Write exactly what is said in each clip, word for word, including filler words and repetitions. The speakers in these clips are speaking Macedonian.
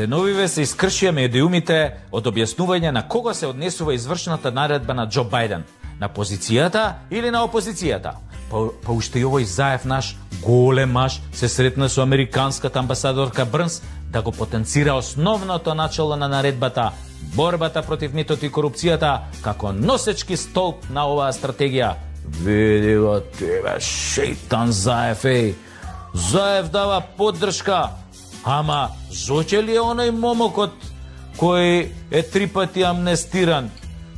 Деновиве се искршија медиумите од објаснување на кого се однесува извршената наредба на Џо Бајден, на позицијата или на опозицијата. Па, па уште и овој Заев наш голем маж се сретна со американската амбасадорка Брнс да го потенцира основното начало на наредбата, борбата против митото и корупцијата, како носечки столб на оваа стратегија. Види го тебе, шейтан Заев, еј. Заев дава поддршка. Ама, Зоќе ли е оној момокот кој е три пати амнестиран?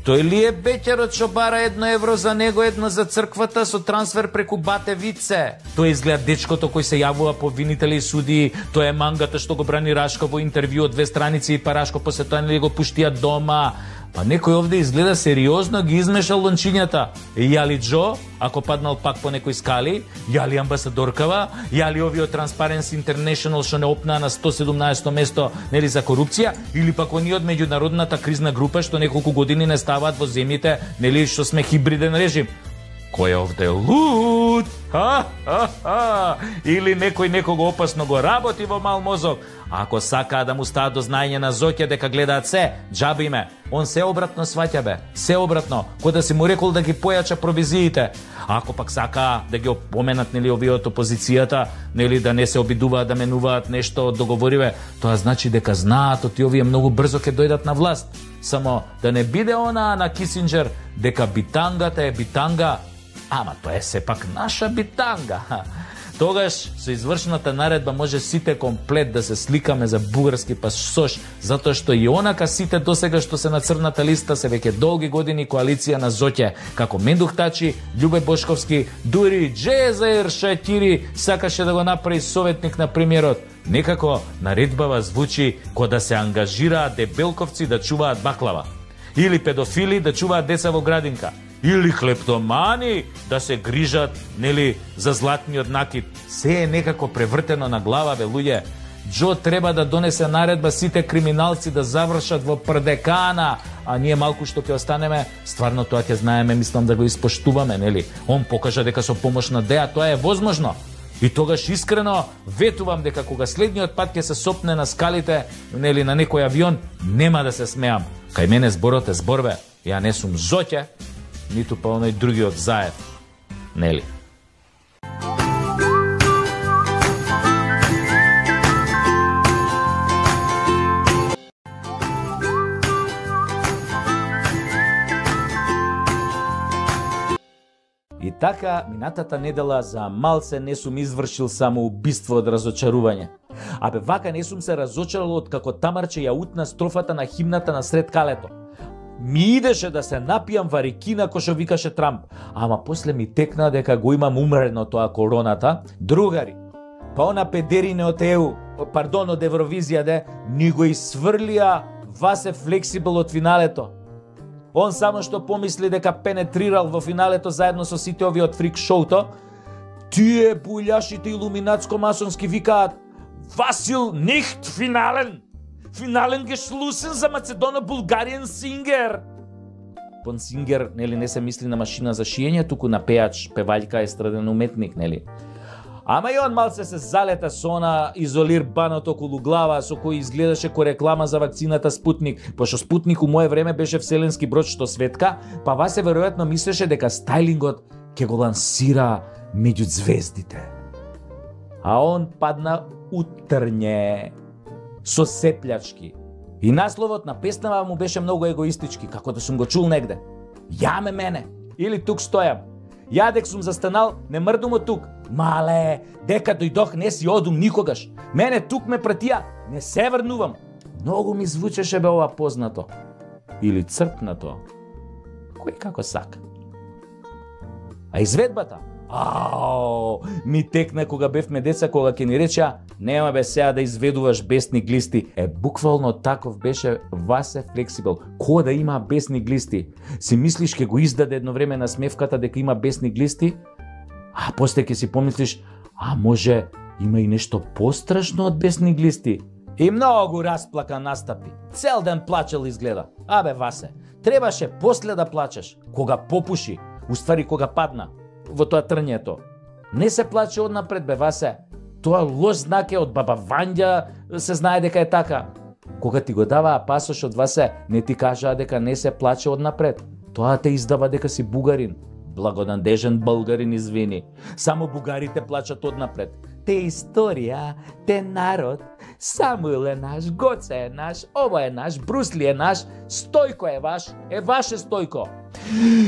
Тој ли е беќарот што бара едно евро за него, едно за црквата со трансфер преку Бате Вице? Тој изгледа дечкото кој се јавува по обвинители и судии, тој е мангата што го брани Рашко во интервју од две страници и па Рашко после тоа нели го пуштија дома. Па некој овде изгледа сериозно ги измешал лончињата. Јали Џо, ако паднал пак по некој скали, јали амбасадоркава, јали овие од Transparency International што не опнаа на сто седумнаесетто место нели за корупција, или пак оние од меѓународната кризна група што неколку години не ставаат во земјите, нели што сме хибриден режим. Кој е овде луд? Ха, ха, ха. Или некој некого опасно го работи во мал мозок. Ако сакаа да му стават до знаење на Зоќе дека гледаат се, џаби ме. Он се обратно сваќа бе, се обратно, кој да си му рекол да ги појача провизиите. Ако пак сакаа да ги опоменат нели овие од опозицијата, нели да не се обидуваат да менуваат нешто од договориве, тоа значи дека знаат оти овие многу брзо ќе дојдат на власт. Само да не биде она на Кисинџер дека битангата е битанга, ама тоа е сепак наша битанга. Тогаш со извршената наредба може сите комплет да се сликаме за бугарски пасош, затоа што и онака сите досега што се на црната листа се веќе долги години коалиција на Зоќе, како Мендух Тачи, Љубе Бошковски, дури Џезаир Шаќири сакаше да го направи советник на премиерот. Некако наредбава звучи ко да се ангажираат дебелковци да чуваат баклава, или педофили да чуваат деца во градинка, или хлептомани да се грижат, нели, за златниот накид. Се е некако превртено на глава, бе, луѓе. Џо треба да донесе наредба сите криминалци да завршат во Прдекана, а ние малку што ќе останеме, стварно тоа ќе знаеме, мислам да го испоштуваме, нели? Он покажа дека со помош на Деа тоа е возможно. И тогаш искрено ветувам дека кога следниот пат ќе се сопне на скалите, нели, на некој авион, нема да се смеам. Кај мене зборот е зборбе. Ја не сум Зоќе, ниту па оној другиот Заев. Нели? И така, минатата недела за малце не сум извршил само убиство од разочарување. Абе, вака не сум се разочарал од како Тамарче ја утна строфата на химната на сред калето. Ми идеше да се напијам варикина кој што викаше Трамп, ама после ми текна дека го имам умрено тоа короната. Другари, па она педерине од Е У, пардон, од Евровизија де, ни го исврлија Васе Флексибл од финалето. Он само што помисли дека пенетрирал во финалето заедно со сите овие од фрик шоуто, тие буљашите илуминатско-масонски викаат Васил нихт финален! Финален гешлусен за Македоно-Булгариен сингер! Пон сингер, нели, не се мисли на машина за шиење, туку на пеач, певаљка, естраден уметник, нели? Ама и он малце се залета со она изолир банот околу глава, со кој изгледаше ко реклама за вакцината Спутник, пошто Спутник у мое време беше вселенски брод што светка, па Васе веројатно мислеше дека стајлингот ќе го лансира меѓу звездите. А он падна утрње со сеплячки. И насловот на песнава му беше многу егоистички, како да сум го чул негде. Јаме мене, или тук стојам. Ја дек сум застанал, не мрдум од тук. Мале, дека дојдох не си одум никогаш. Мене тук ме пратија, не се врнувам. Многу ми звучеше бе ова познато. Или црпнато. Кој како сака. А изведбата? Ау, ми текна кога бевме деца, кога ќе ни речеа нема бе сега да изведуваш бесни глисти. Е, буквално таков беше Васе Флексибл. Ко да има бесни глисти? Си мислиш ке го издаде едно време на смевката дека има бесни глисти? А после ќе си помислиш, а може има и нешто пострашно од бесни глисти? И многу расплака настапи. Цел ден плачел изгледа. Абе Васе, требаше после да плачеш, кога попуши, уствари кога падна во тоа трњето. Не се плаче однапред бе Васе. Тоа лош знак е од баба Вања, се знае дека е така. Кога ти го даваа пасошот, Васе, не ти кажаа дека не се плаче однапред. Тоа те издава дека си бугарин. Благонадежен българин, извини. Само бугарите плачат однапред. Те историја, те народ, Самуил е наш, Гоце е наш, ова е наш, Брусли е наш, Стојко е ваш, е ваше Стојко.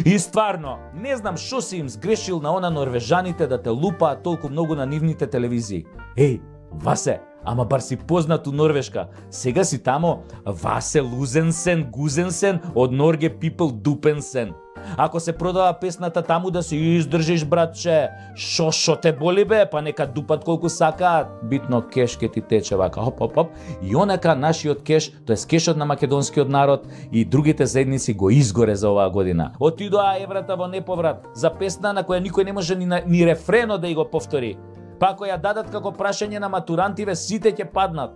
И стварно, не знам шо си им сгрешил на она норвежаните да те лупаат толку многу на нивните телевизии. Еј, Васе, ама бар си познат у Норвешка. Сега си тамо Васе Лузенсен, Гузенсен, од Норге People Дупенсен. Ако се продава песната таму да се издржиш, братче, шо шо те боли бе, па нека дупат колку сакаат. Битно кеш ке ти тече вака, хоп, хоп, хоп. И онака нашиот кеш, тоа е кешот на македонскиот народ и другите заедници го изгоре за оваа година. Отидоа еврата во неповрат за песна на која никој не може ни, ни рефрено да ја го повтори. Па ако ја дадат како прашање на матурантиве, сите ќе паднат.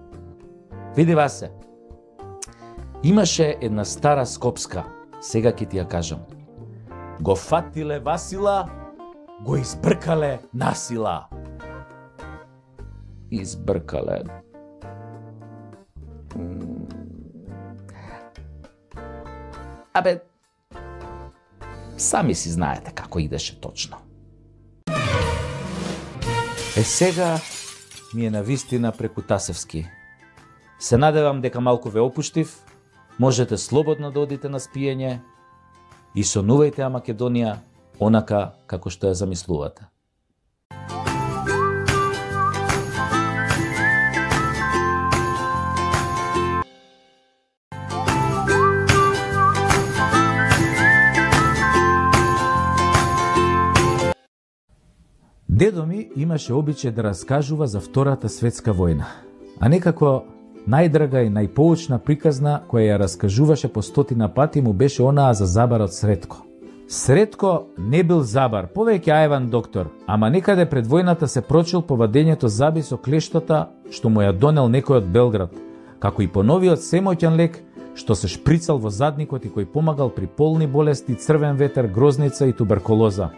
Види, Васе, имаше една стара скопска, сега ќе ти ја кажам. Го фатиле Васила, го избркале насила. Избркале. Абе, сами си знаете како идеше точно. Е сега ми е навистина преку Тасевски. Се надевам дека малку ве опуштив, можете слободно да одите на спиење и сонувајте ја Македонија онака како што ја замислувате. Дедо ми имаше обичај да раскажува за Втората светска војна, а некако најдрага и најпоучна приказна која ја раскажуваше по стотина пати му беше онаа за забарот Сретко. Сретко не бил забар, повеќе аеван доктор, ама некаде пред војната се прочил по вадењето заби со клештата што му ја донел некој од Белград, како и по новиот семоќен лек што се шприцал во задникот и кој помагал при полни болести, црвен ветер, грозница и туберкулоза.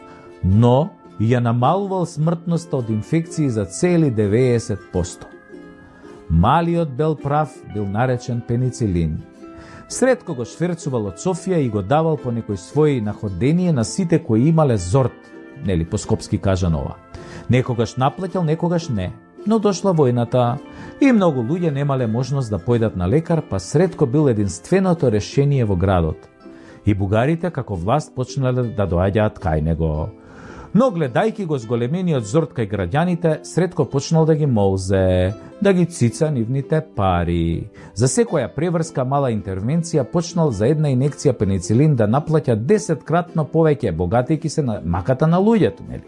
Но и ја намалувал смртноста од инфекции за цели деветдесет проценти. Малиот бел прав бил наречен пеницилин. Сретко го шверцувал од Софија и го давал по некој свој находение на сите кои имале зорт, нели по скопски кажано ова. Некогаш наплаќал, некогаш не. Но дошла војната и многу луѓе немале можност да појдат на лекар, па Сретко бил единственото решение во градот. И бугарите како власт почнале да доаѓаат кај него. Но гледајки го зголемениот зорт кај граѓаните, Сретко почнал да ги молзе, да ги цица нивните пари. За секоја преврска мала интервенција почнал за една инекција пеницилин да наплаќа десеткратно повеќе, богатејќи се на маката на луѓето, нели?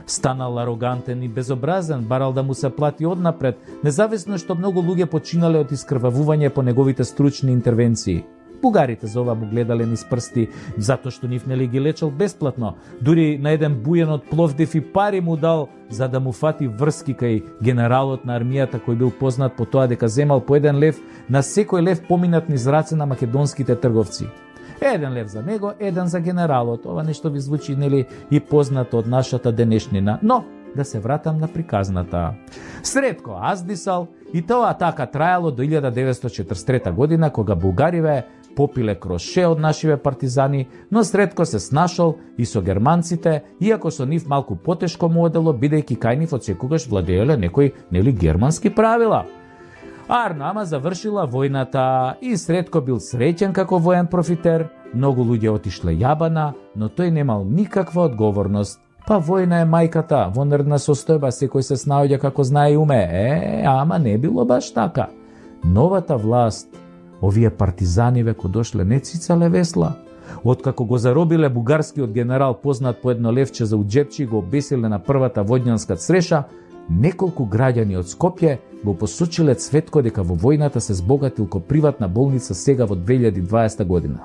Станал арогантен и безобразен, барал да му се плати однапред, независно што многу луѓе починале од искрвавување по неговите стручни интервенции. Бугарите за ова му гледале низ прсти, затоа што нив нели ги лечел бесплатно. Дури на еден бујен од Пловдив и пари му дал за да му фати врски кај генералот на армијата кој бил познат по тоа дека земал по еден лев на секој лев поминат низ раце на македонските трговци. Еден лев за него, еден за генералот. Ова нешто ви звучи нели и познато од нашата денешнина. Но да се вратам на приказната. Сретко аздисал и тоа така трајало до илјада деветстотини и четрдесет и трета година кога бугариве попиле кроше од нашиве партизани, но Сретко се снашол и со германците, иако со нив малку потешко му одело, бидејќи кај нив од секогаш владееле некои нели германски правила. Арно, ама завршила војната и Сретко бил среќен како воен профитер, многу луѓе отишле јабана, но тој немал никаква одговорност. Па војна е мајката, во нервна состојба секој се снаоѓа како знае и уме. Е, ама не било баш така. Новата власт, овие партизани веко дошле не цицале весла. Откако го заробиле бугарскиот генерал познат по едно левче за уџепчи и го обесиле на првата војнанска цреша, неколку граѓани од Скопје го посочиле Цветко дека во војната се збогатил ко приватна болница сега во две илјади и дваесета година.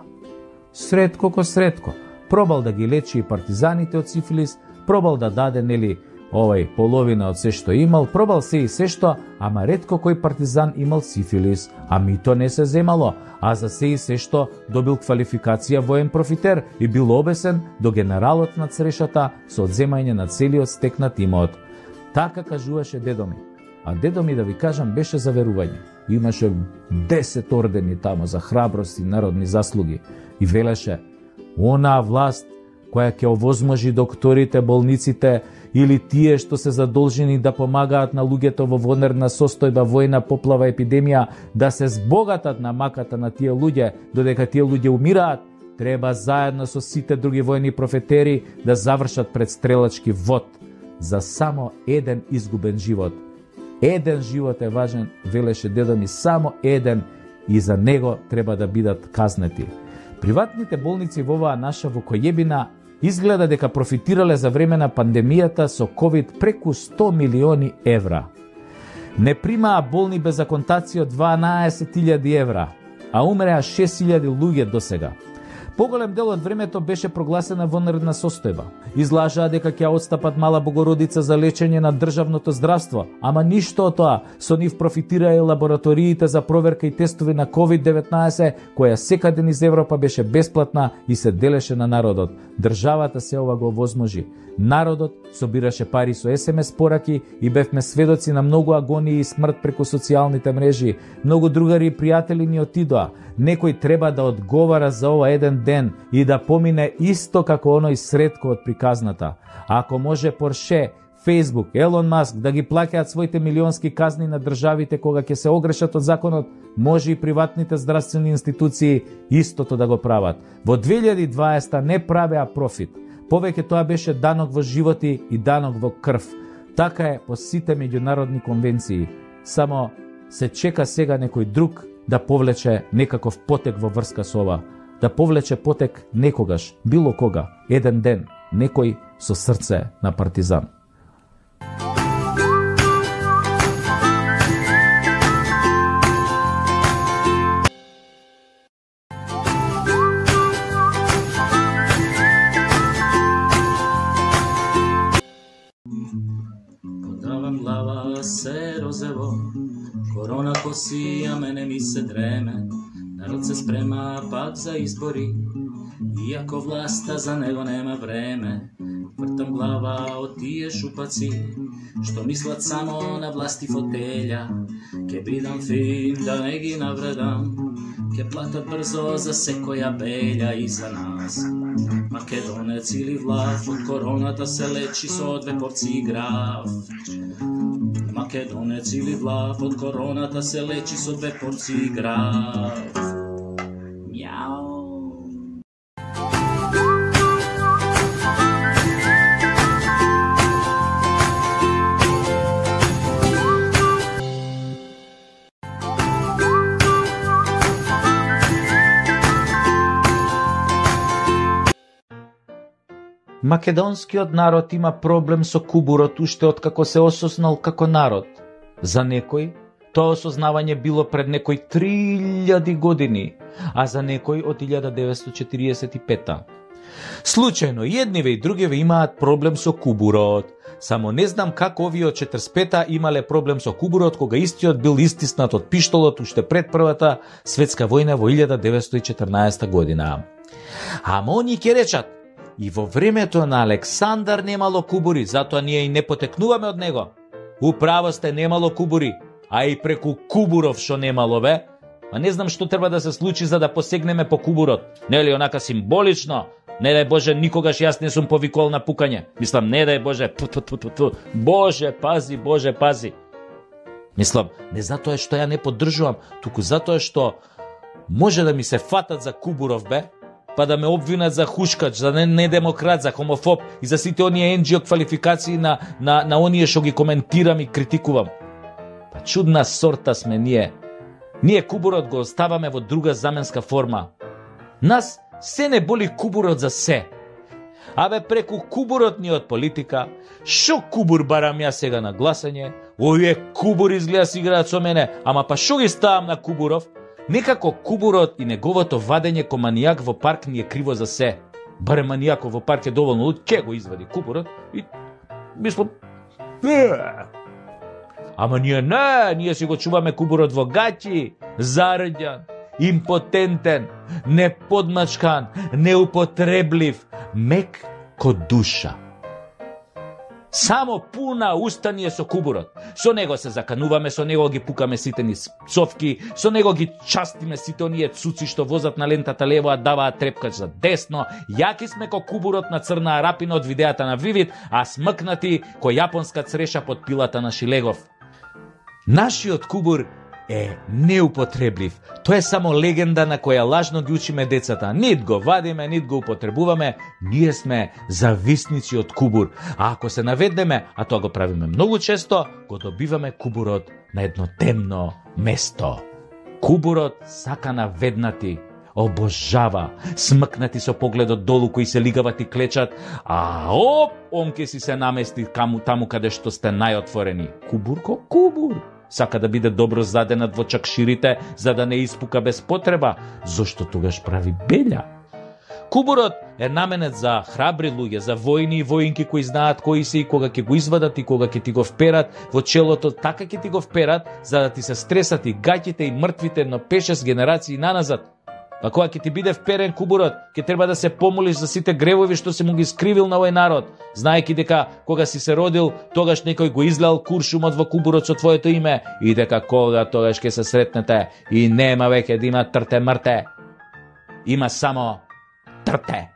Сретко ко Сретко, пробал да ги лечи и партизаните од сифилис, пробал да даде нели овај половина од се што имал, пробал се и се што, ама ретко кој партизан имал сифилис, а мито не се земало, а за се и се што добил квалификација воен профитер и бил обесен до генералот на црешата со одземање на целиот стекнат имот. Така кажуваше дедо ми, а дедо ми, да ви кажам, беше за верување. имаше десет ордени тамо за храброст и народни заслуги. И велеше, онаа власт која ќе овозможи докторите, болниците или тие што се задолжени да помагаат на луѓето во вонерна состојба, војна, поплава, епидемија, да се збогатат на маката на тие луѓе, додека тие луѓе умираат, треба заедно со сите други војни профетери да завршат предстрелачки вод за само еден изгубен живот. Еден живот е важен, велеше дедо ми, само еден, и за него треба да бидат казнети. Приватните болници во оваа наша вукојебина изгледа дека профитирале за време на пандемијата со ковид преку сто милиони евра. Не примаа болни без аконтација од дванаесет илјади евра, а умреа шест илјади луѓе досега. Поголем дел од времето беше прогласена вонредна состојба. Излажаа дека ќе отстапат Мала Богородица за лечење на државното здравство, ама ништо од тоа. Со нив профитираа и лабораториите за проверка и тестови на ковид деветнаесет, која секаде низ Европа беше бесплатна и се делеше на народот. Државата се ова го возможи. Народот собираше пари со ес ем ес пораки и бевме сведоци на многу агонии и смрт преку социјалните мрежи. Многу другари и пријатели ни отидоа. Некој треба да одговара за ова еден ден и да помине исто како оној средко од приказната. Ако може Порше, Фейсбук, Елон Маск да ги плаќаат своите милионски казни на државите кога ќе се огрешат од законот, може и приватните здравствени институции истото да го прават. Во две илјади и дваесета не правеа профит. Повеќе тоа беше данок во животи и данок во крв. Така е по сите меѓународни конвенции. Само се чека сега некој друг да повлече некаков потек во врска со ова. Да повлече потек некогаш, било кога, еден ден, некој со срце на партизан. Подавам глава се розево, корона коси, а мене ми се дреме. Народ се спрема пак за избори, иако власта за него нема време. Вртам глава од тие шупаци, што мислат само на власти фотелја. Ке бидам фин да не ги навредам, ке платат брзо за секоја белја и за нас. Македонец или влав, од короната се лечи со две порции граф. Македонец или влав, од короната се лечи со две порции граф. Мјау. Македонскиот народ има проблем со кубурот уште откако се осознал како народ. За некој, тоа осознавање било пред некој три илјади години, а за некој од илјада деветстотини четириесет и пета. Случајно, едниве и другиве имаат проблем со кубурот. Само не знам како овие од четиридесет и пета имале проблем со кубурот, кога истиот бил истиснат од пиштолот уште пред Првата светска војна во илјада деветстотини и четрнаесета година. Ама они ќе речат, и во времето на Александар немало кубури, затоа ние и не потекнуваме од него. Управо сте, немало кубури, а и преку кубуров шо немало, бе. А не знам што треба да се случи за да посегнеме по кубурот. Нели онака символично? Не дај Боже, никогаш јас не сум повикол на пукање. Мислам, не дај Боже, ту, ту, ту, ту, ту. Боже, пази, Боже, пази. Мислам, не затоа што ја не поддржувам, туку затоа што може да ми се фатат за кубуров, бе, па да ме обвинат за хушкач, за недемократ, за хомофоб и за сите оние ен џи о квалификации на, на, на оние што ги коментирам и критикувам. Па чудна сорта сме ние. Ние кубурот го оставаме во друга заменска форма. Нас се не боли кубурот за се. Абе преку кубурот ни од политика, шо кубур барам ја сега на гласање, овие кубури изгледа си играат со мене, ама па шо ги ставам на кубуров? Некако кубурот и неговото вадење ко манијак во парк ни е криво за се. Баре манијаков во парк е доволно луд, ке го извади кубурот и мислам, ама ние не, ние си го чуваме кубурот во гаќи, зарđан, импотентен, неподмачкан, неупотреблив, мек ко душа. Само пуна уста ни е со кубурот. Со него се закануваме, со него ги пукаме сите ни цовки, со него ги частиме сите оние цуци што возат на лентата лево, а даваат трепкач за десно. Јаки сме ко кубурот на Црна Арапина од видеата на Вивид, а смркнати ко јапонска цреша под пилата на Шилегов. Нашиот кубур е неупотреблив. Тоа е само легенда на која лажно ги учиме децата. Нит го вадиме, нит го употребуваме. Ние сме зависници од кубур. А ако се наведнеме, а тоа го правиме многу често, го добиваме кубурот на едно темно место. Кубурот сака наведнати, обожава, смкнати со погледот долу кои се лигават и клечат, а оп, он ке си се намести каму, таму каде што сте најотворени. Кубур ко кубур. Сака да биде добро заденат во чакширите, за да не испука без потреба, зошто тогаш прави белја. Кубурот е наменет за храбри луѓе, за војни и воинки кои знаат кои се и кога ќе го извадат и кога ќе ти го вперат во челото, така ќе ти го вперат, за да ти се стресат и гаќите и мртвите на пет-шест генерации наназад. А кога ќе ти биде вперен кубурот, ќе треба да се помолиш за сите гревови што се му ги скривил на овој народ, знаеки дека кога си се родил, тогаш некој го излел куршумот во кубурот со твоето име и дека кога тогаш ќе се сретнете и нема веќе да има трте мрте. Има само трте.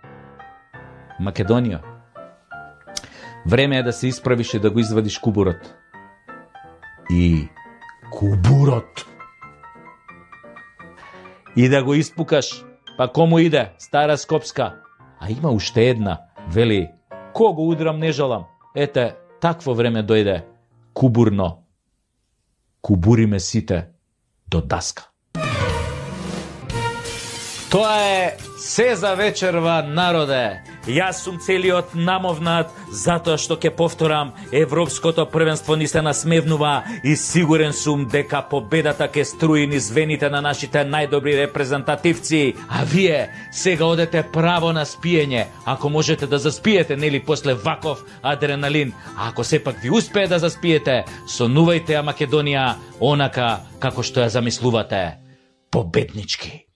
Македонија. Време е да се исправиш и да го извадиш кубурот. И кубурот. И да го испукаш, па кому иде, стара Скопска. А има уште една, вели, кого удрам не жалам. Ете, такво време дојде, кубурно. Кубуриме сите до даска. Тоа е се за вечерва, народе. Јас сум целиот намовнат, затоа што ќе повторам, Европското првенство ни се насмевнува и сигурен сум дека победата ќе струи низ вените на нашите најдобри репрезентативци. А вие сега одете право на спиење, ако можете да заспиете, нели после ваков адреналин. А ако сепак ви успее да заспиете, сонувајте ја Македонија онака како што ја замислувате. Победнички.